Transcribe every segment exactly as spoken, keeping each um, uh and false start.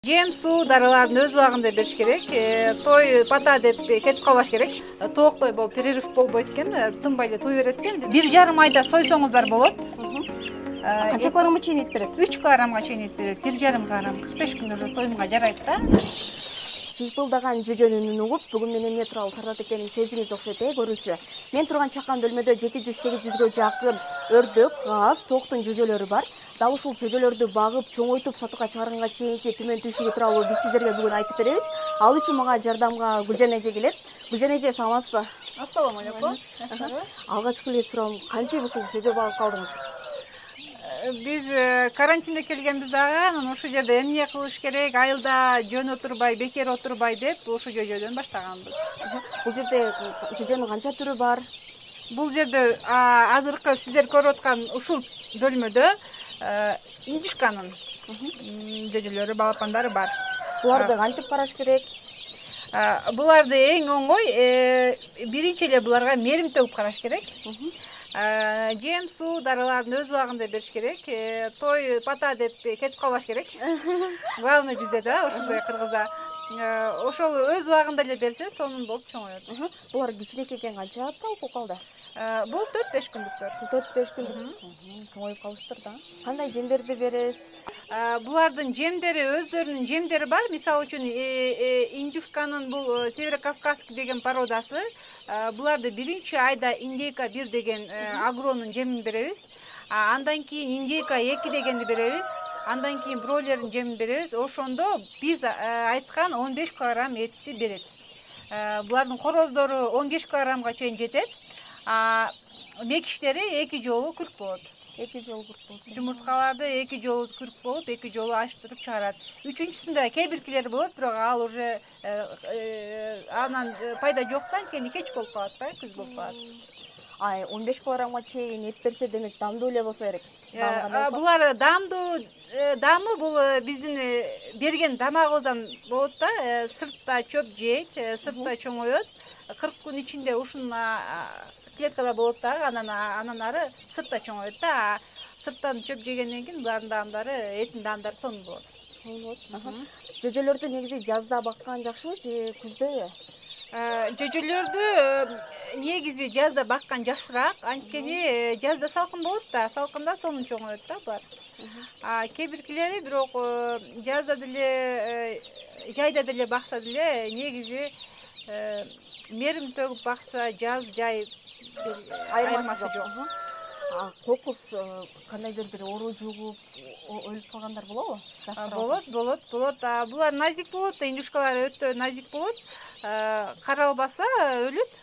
Жем, суу, дарыларын өз убагында бериш керек. Той пата деп кетип калбаш керек. Тооктой болуп перерыв болбойт экен, тынбай эле туй берет экен. Бир жарым айда сойсоңуздар болот. Канча килограммга чейин эт берет? үч килограммга чейин эт берет. бир жарым килограмм кырк беш күндө уже союмга жарайт да. Чыйпылдаган жүжөнүн үнүн угуп, бүгүн мен эмне тууралуу тартат экениңди сездиңиз окшойт, э, көрүүчү. Мен турган чакан бөлмөдө жети жүз сегиз жүзгө жакын өрдөк, газ, тооктун жүжөлөрү бар. Дал ушул жүжөлөрдү багып, чоңойтуп сатууга чыгарганга чейинки түмөн түйшүгү тууралуу биз сиздерге бүгүн айтып беребиз. Ал үчүн мага жардамга Гүлжан эже келет. Гүлжан эже, саламатсызбы? Ассаламу алейкум. Алгачкы эле суроом, кантип ушул жүжө багып калдыңыз? Биз карантинде келгенбиз дагы, анан ушул жерде эмне кылыш керек, айылда жөн отурбай, бекер отурбай деп ушул жүжөдөн баштаганбыз. Бул жерде жүжөнүн канча түрү бар? Бул жерде азыркы сиздер көрүп аткан ушул бөлмөдө индюшканын жүжөлөрү, балапандары бар. Буларды кантип караш керек? Буларды эң оңой, биринчи эле буларга мерим төгүп караш керек. Жем, суу, дарыларын өз убагында бериш керек. Той пата деп кетип калбаш керек. Главный бизде да, ошондой кыргызда. Ошол өз убагында эле берсе, сонун болуп чоңоет. Булар кичинекей экен, канча апта окуп калды? Бул төрт беш күндүктөр. төрт беш күндүк. Чоңоюп калыштыр да. Кандай жемдерди бересиз? Булардын жемдери, өздөрүнүн жемдери бар. Мисалы үчүн индюшканын бул северокавказский деген породасы. Буларды биринчи айда индейка бир деген агронун жемин беребиз. Андан кийин индейка эки дегенди беребиз. Андан кийин бройлердин жемин беребиз. Ошондо биз айткан он беш килограмм этти берет. Булардын короздору он беш килограммга чейин жетет. Мекиштери эки жолу күрк болот. Эки жолу күрк болот. Жумурткаларды эки жолу күрк болуп, эки жолу ачтырып чыгарат. Үчүнчүсүндө кээ биркилери болот, бирок ал уже анан пайда жок да, анткени кеч болуп калат да, күз болуп калат. Ай, он беш килограммга чейин эт берсе, демек дамдуу эле болсо керек. Булар дамдуу, дамы бул биздин берген тамагыбыздан болот да, сыртта чөп жейт, сыртта чоңоет. кырк күн ичинде ушунун клеткада болот да, анан ары сыртта чоңоет да. Сырттан чөп жегенден кийин булардын даамдары, этин даамдары сонун болот. Сонун болот. Жүжөлөрдү негизи жазда баккан жакшыбы же күздө? Жүжөлөрдү негизи жазда баккан жакшыраак, анткени жазда салкын болот да, салкында сонун чоңоет да булар. Кээ биркилери бирок жазда деле, жайда деле бакса деле негизи мерим төгүп бакса, жаз, жай айырмасы жок. Кокус кандайдыр бир оору жугуп өлүп калгандар болобу? Болот, болот, болот. Булар назик болот, индюшкалар өтө назик болот. Каралбаса өлөт.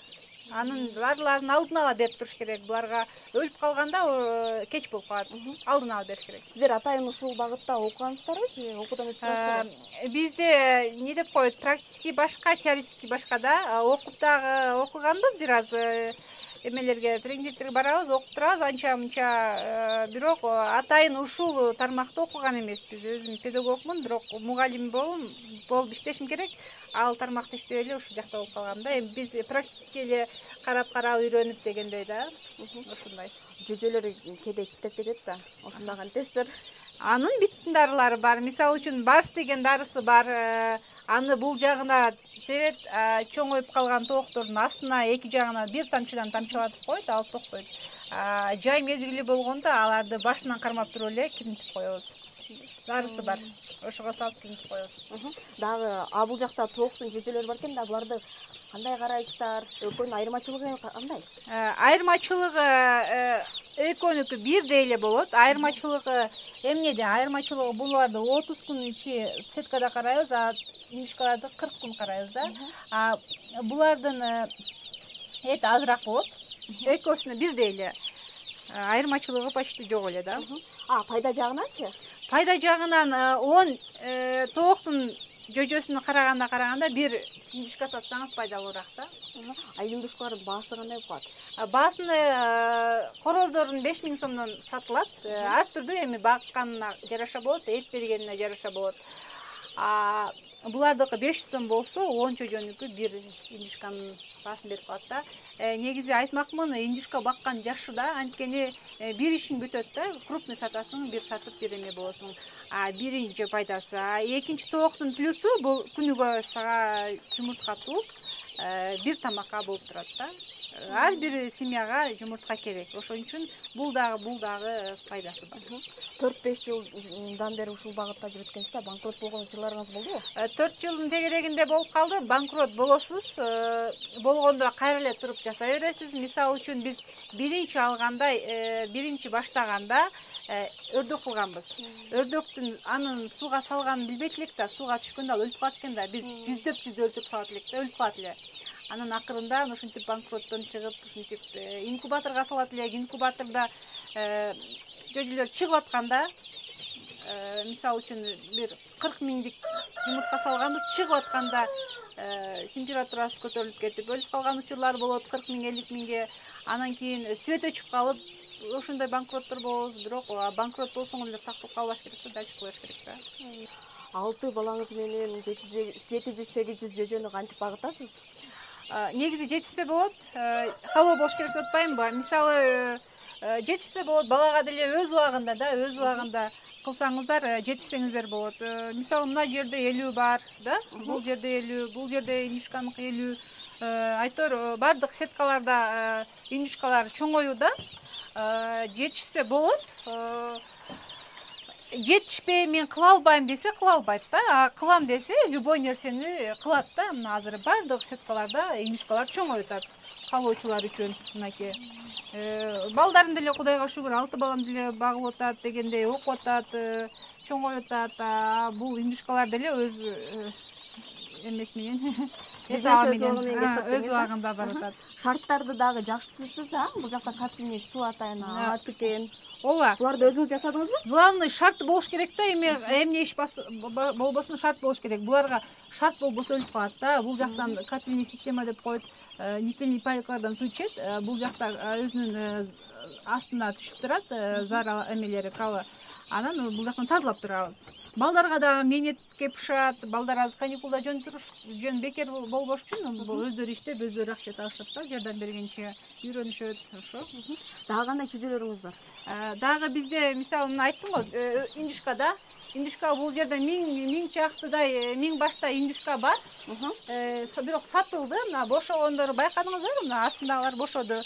Анын дарыларын алдын ала берип туруш керек. Буларга өлүп калганда кеч болуп калат. Алдын ала бериш керек. Сиздер атайын ушул багытта окугансыздарбы же окуудан өтүп турасыздарбы? Бизде эмне деп коет, практически башка, теоретически башка да. Окуп дагы окуганбыз бир аз. Эмелерге, тренингтерге барабыз, окуп турабыз, анча-мынча, бирок атайын ушул тармакта окуган эмеспиз. Өзүм педагогмун, бирок мугалим болуп иштешим керек. Ал тармакта иштеп эле ушул жакта болуп калгам да. Эми биз практически эле карап-карап үйрөнүп дегендей да. Ушундай. Жүжөлөр кээде китеп кетет да. Ошондо кантесиздер? Анын биттин дарылары бар. Мисалы үчүн барс деген дарысы бар. Аны бул жагына себет, чоңоюп калган тооктордун астына эки жагына бир тамчыдан тамчылатып коет, ал токтойт. Жай мезгили болгондо аларды башынан кармап туруп эле кирнитип коебуз. Дарысы бар. Ошого салып кирнитип коебуз. Дагы бул жакта тооктун жүжөлөрү бар экен да, буларды кандай карайсыздар? Экөөнүн айырмачылыгы кандай? Айырмачылыгы экөөнүкү бирдей эле болот. Айырмачылыгы эмнеде? Айырмачылыгы буларды отуз күн ичи сеткада карайбыз, а индюшкаларды кырк күн карайбыз да. Булардын эти азыраак болот. Экөөсүнө бирдей эле. Айырмачылыгы почти жок эле да. А, пайда жагынанчы? Пайда жагынан он тооктун жөжөсүнө караганда караганда бир индюшка сатсаңыз пайдалуураак да. А индюшкалардын баасы кандай болуп калат? Баасыны короздорун беш миң сомдон сатылат. Ар түрдүү, эми бакканына жараша болот, эт бергенине жараша болот. булардыкы беш жүз сом болсо он чөйжөнүкү бир индюшканын баасын берип калат да. Негизи айтмакмын, индюшка баккан жакшы да, анткени бир ишиң бүтөт да, крупный сатасың, бир сатып бир эме болосуң. А биринчи пайдасы. А экинчи тооктун плюсу бул күнүгө сага жумуртка тууп, бир тамакка болуп турат да. Ар бир семьяга жумуртка керек. Ошон үчүн бул дагы бул дагы пайдасы бар. төрт беш жылдан бери ушул багытта жүрүп экенсиз да, банкрот болгон жылдарыңыз болдубу? төрт жылдын тегерегинде болуп калды. Банкрот болосуз. Болгондо кайра эле туруп жасай бересиз. Мисалы үчүн биз биринчи алганда, биринчи баштаганда өрдөк кылганбыз. Өрдөктүн анын сууга салганын билбейт элек да, сууга түшкөндө ал өлүп калат экен да. Биз жүздөп жүз өрдөк салат элек да, өлүп калат эле. Анын акырында ушинтип банкроттон чыгып, ушинтип инкубаторго салат элек. Инкубатордо жөжөлөр чыгып атканда, мисалы үчүн бир кырк миңдик жумуртка салганбыз, чыгып атканда температурасы көтөрүлүп кетип өлүп калган учурлар болот, кырк миң элүү миңге. Анан кийин свет өчүп калып, ошондой банкроттор болобуз. Бирок банкрот болсоң эле тактап калбаш керек да, дальше кылыш керек да. алты балаңыз менен жети жүз сегиз жүз жөжөнү кантип багытасыз? Негизи жетишсе болот, калоо болуш керек деп атпаймынбы? Мисалы, жетишсе болот, балага деле өз убагында да, өз убагында кылсаңыздар жетишсеңиздер болот. Мисалы, мына жерде элүү бар, да? Бул жерде элүү, бул жерде индюшканыкы элүү. Айтор бардык сеткаларда индюшкалар чоңоюуда. Жетишсе болот. Жетишпей мен кыла албайм десе кыла албайт да. Кылам десе любой нерсени кылат да. Мына азыр бардык сеткаларда индюшкалар чоңоюп атат. Калоочулар үчүн мынакей. Балдарым деле Кудайга шүгүр, алты балам деле багып атат дегендей окуп атат, чоңоюп атат. Бул индюшкалар деле өз эмеси менен өз убагында барып атат. Шарттарды дагы жакшы түзүпсүз да? Бул жакта капельный суу атайын, алат экен. Ооба. Буларды өзүңүз жасадыңызбы? Главный шарт болуш керек да, эми эмне иш болбосун шарт болуш керек. Буларга шарт болбосо өлүп калат да. Бул жактан капельный система деп коет, никельный пайкалардан суу ичет. Бул жакта өзүнүн астына түшүп турат, зар эмелери, калы. Анан бул жактан тазалап турабыз. Балдарга да мээнетке бышат, балдар азыр каникулда жөн туруш, жөн бекер болбош үчүн өздөрү иштеп, өздөрү акча табышат да, жардам бергенче үйрөнүшөт, ошо. Дагы кандай чөжөлөрүңүз бар? Дагы бизде, мисалы, мына айттым го, индюшкада, индюшка бул жерде миң миң чактыдай, миң баштай индюшка бар. Бирок сатылды, мына бошогондору байкадыңыздарбы? Мына астындагылар бошоду.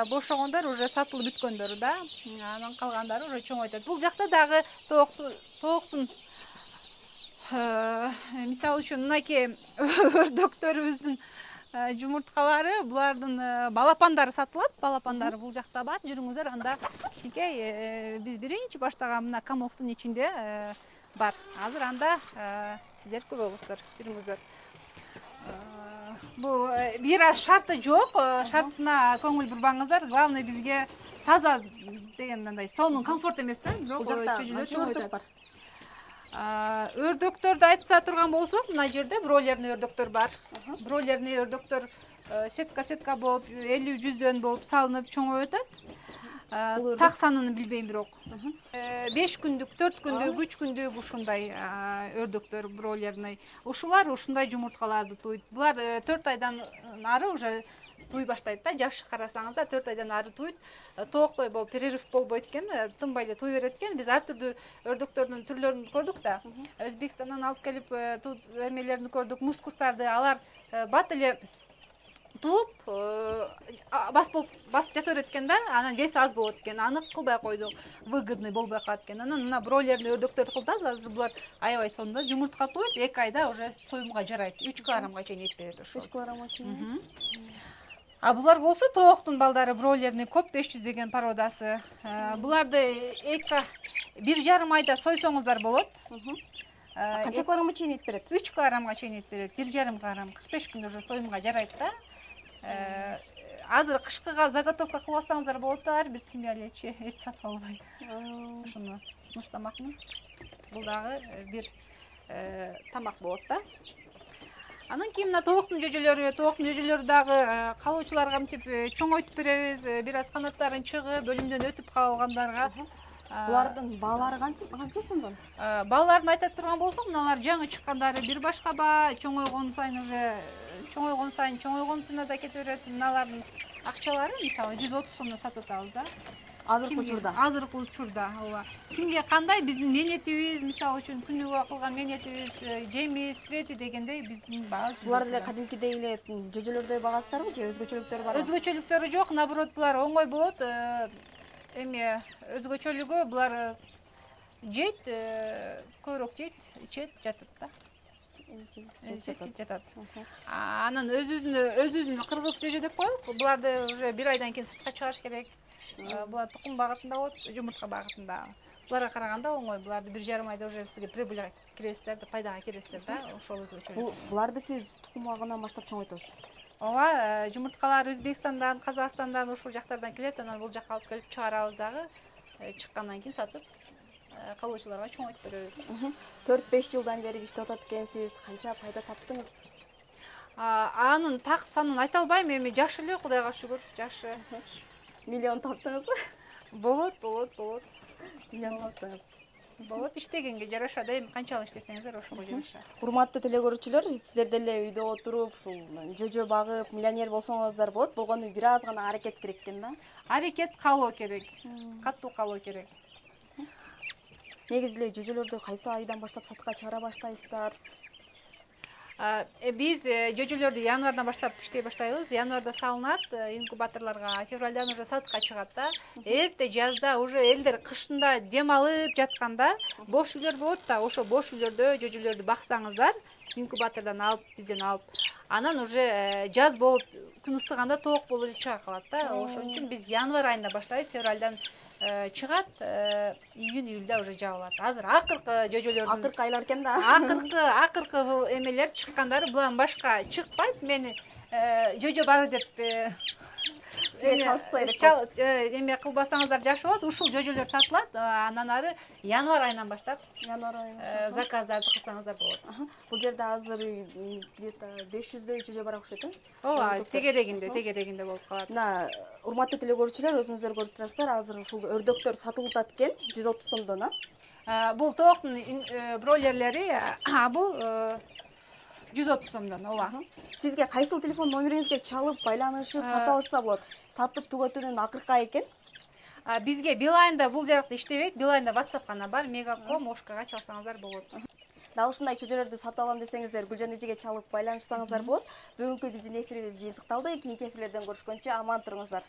Бошогондор уже сатылып бүткөндөр да. Анан калгандары уже чоңойтат. Бул жакта дагы тооктун мисалы үчүн мынакей өрдөктөрүбүздүн жумурткалары, булардын балапандары сатылат. Балапандары бул жакта бар. Жүрүңүздөр, анда кичинекей биз биринчи баштаган мына комоктун ичинде бар. Азыр анда сиздер көрөсүздөр. Жүрүңүздөр. Бул бир аз шарты жок, шартына көңүл бурбаңыздар. Главный бизге таза деген мындай сонун комфорт эмес да, бирок чөжөлөр чоңойтат. Өрдөктөрдү айтса турган болсок, мына жерде бройлерный өрдөктөр бар. Бройлерный өрдөктөр сетка-сетка болуп, элүү жүздөн болуп салынып чоңоюп атат. Так санын билбейм бирок. беш күндүк, төрт күндүк, үч күндүк ушундай өрдөктөр бройлерный. Ушулар ушундай жумурткаларды туйт. Булар төрт айдан ары уже туй баштайт да, жакшы карасаңыздар, төрт айдан ары туйт. Тооктой болуп, перерыв болбойт экен, тынбай эле туй берет экен. Биз ар түрдүү өрдөктөрдүн түрлөрүн көрдүк да. Өзбекстандан алып келип эмелерин көрдүк, мускустарды, алар бат эле тууп басып басып жата берет экен да, анан веси аз болот экен. Аны кылбай койдук, выгодный болбой калат экен. Анан мына бройлерный өрдөктөрдү кылдыбыз, азыр булар аябай сонун, жумуртка туйт, эки айда уже союмга жарайт. үч килограммга чейин эт берет ошо. үч килограммга чейин. А булар болсо тооктун балдары бройлерный коп беш жүз деген породасы. Буларды эки бир жарым айда сойсоңуздар болот. Канча килограммга чейин эт берет? үч килограммга чейин эт берет. бир жарым килограмм, кырк беш күндө уже союмга жарайт да. Азыр кышкыга заготовка кылып алсаңыздар болот да, ар бир семья элечи эт сатып албай. Ошону сунуштамакмын. Бул дагы бир тамак болот да. Анан кийин мына тооктун жөжөлөрү, тооктун жөжөлөрү дагы калоочуларга мынтип чоңойтуп беребиз. Бир аз канаттарын чыгып, бөлүмдөн өтүп калгандарга Булардын баалары канча канча сомдон? Балаларын айтып турган болсок, мыналар жаңы чыккандары бир башка баа, чоңойгон сайын уже чоңойгон сайын чоңойгонсуна да кете берет. Мыналардын акчалары мисалы жүз отуз сомдон сатып атабыз да. Азыркы учурда. Азыркы учурда, ооба. Кимге кандай биздин мээнетибиз, мисалы үчүн күнүгө кылган мээнетибиз, жеми, свети дегендей биздин баабыз. Булар деле кадимкидей эле жөжөлөрдөй багасыздарбы же өзгөчөлүктөрү барбы? Өзгөчөлүктөрү жок, наоборот, булар оңой болот. Эми өзгөчөлүгү булар жейт, көбүрөөк жейт, ичет, жатат да. Жатат. Анан өз-өзүнө өз-өзүнө кыргыз жөжө деп коелук. Буларды уже бир айдан кийин сыртка чыгарыш керек. Булар тукум багытында болот, жумуртка багытында. Буларга караганда оңой. Буларды бир жарым айда уже сизге прибыльга киресиздер, пайдага киресиздер да. Ошол өзгөчөлүк. Буларды сиз тукум агынан баштап чоңойтосуз. Ооба, жумурткалар Өзбекстандан, Казакстандан, ушул жактардан келет. Анан бул жакка алып келип чыгарабыз дагы. Чыккандан кийин сатып калуучуларга чоңойтуп беребиз. төрт беш жылдан бери иштеп атат экенсиз. Канча пайда таптыңыз? Анын так санын айта албайм, эми жакшы эле, Кудайга шүгүр, жакшы. Миллион таптыңызбы? Болот, болот, болот. Миллион таптыңыз. Болот, иштегенге жараша да, эми канчалык иштесеңиздер ошого жараша. Урматтуу телекөрүүчүлөр, сиздер деле үйдө отуруп, ушул жөжө багып, миллионер болсоңуздар болот. Болгону бир аз гана аракет керек экен да. Аракет калуу керек. Каттуу калуу керек. Негизи эле жөжөлөрдү кайсы айдан баштап сатка чыгара баштайсыздар? Биз жөжөлөрдү январдан баштап иштей баштайбыз. Январда салынат, инкубаторлорго, февралдан уже сатка чыгат да. Эрте жазда уже элдер кышында дем алып жатканда бош үйлөр болот да, ошо бош үйлөрдө жөжөлөрдү баксаңыздар, инкубатордон алып, бизден алып, анан уже жаз болуп күн ысыганда тоок болуп чыга калат да. Ошон үчүн биз январь айында баштайбыз, февралдан чыгат, июнь июльда уже жабылат. Азыр акыркы жөжөлөрдүн акыркы айлар экен да. Акыркы акыркы эмелер чыккандары булан башка чыкпайт. Мени жөжө бары деп сизге чалышса керек. Эме кылбасаңыздар жакшы болот. Ушул жөжөлөр сатылат. Анан ары январь айынан баштап январь айынан заказдарды кылсаңыздар болот. Бул жерде азыр где-то беш жүздөй жөжө бар окшойт э? Ооба, тегерегинде, тегерегинде болуп калат. Мына, урматтуу телекөрүүчүлөр, өзүңүздөр көрүп турасыздар, азыр ушул өрдөктөр сатылып атат экен, жүз отуз сомдон, а? Бул тооктун бройлерлери, бул жүз отуз сомдон, ооба. Сизге кайсыл телефон номериңизге чалып, байланышып, сатып алса болот? Сатып түгөтүүнүн акыркы айы экен. Бизге Билайнда бул жакта иштебейт, Билайнда WhatsApp гана бар, Мегаком, Ошкага чалсаңыздар болот. Дал ушундай чөжөлөрдү сатып алам десеңиздер, Гүлжан эжеге чалып байланышсаңыздар болот. Бүгүнкү биздин эфирибиз жыйынтыкталды. Кийинки эфирлерден көрүшкөнчө аман туруңуздар.